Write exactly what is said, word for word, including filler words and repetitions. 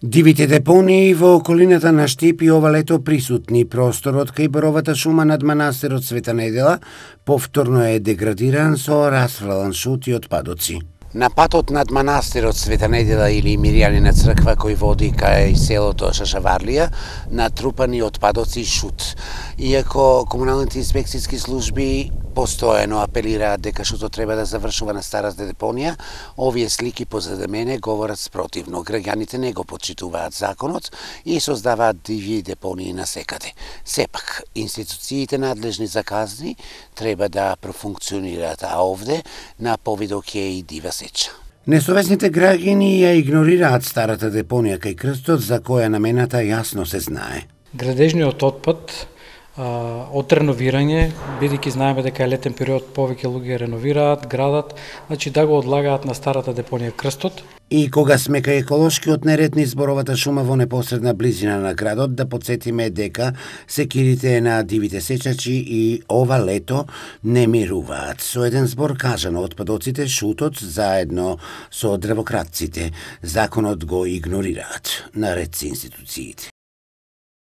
Дивите депонии во околината на Штип и ова лето присутни. Просторот кај Боровата шума над манастирот Света Недела повторно е деградиран со расфрлан шут и отпадоци. На патот над манастирот Света Недела или Миријанина црква кој води кај селото Шашаварлија, натрупани отпадоци и шут. Иако комуналните инспекцијски служби постојано апелираат дека шутот треба да завршува на старата депонија, овие слики позади мене говорат спротивно. Граѓаните не го почитуваат законот и создаваат диви депонии насекаде. Сепак, институциите надлежни за казни треба да профункционираат, а овде на повидок е и дива сеча. Несовесните граѓани ја игнорираат старата депонија кај крстот, за која намената јасно се знае. Градежниот отпад од реновирање, бидејќи знаеме дека е летен период, повеќе луѓе реновираат градот, значи да го одлагаат на старата депонија крстот. И кога сме кај еколошкиот неред низ Боровата шума во непосредна близина на градот, да подсетиме дека секирите на дивите сечачи и ова лето не мируваат. Со еден збор кажано, отпадоците, шутот, заедно со дрвократците, законот го игнорираат, наред со институциите.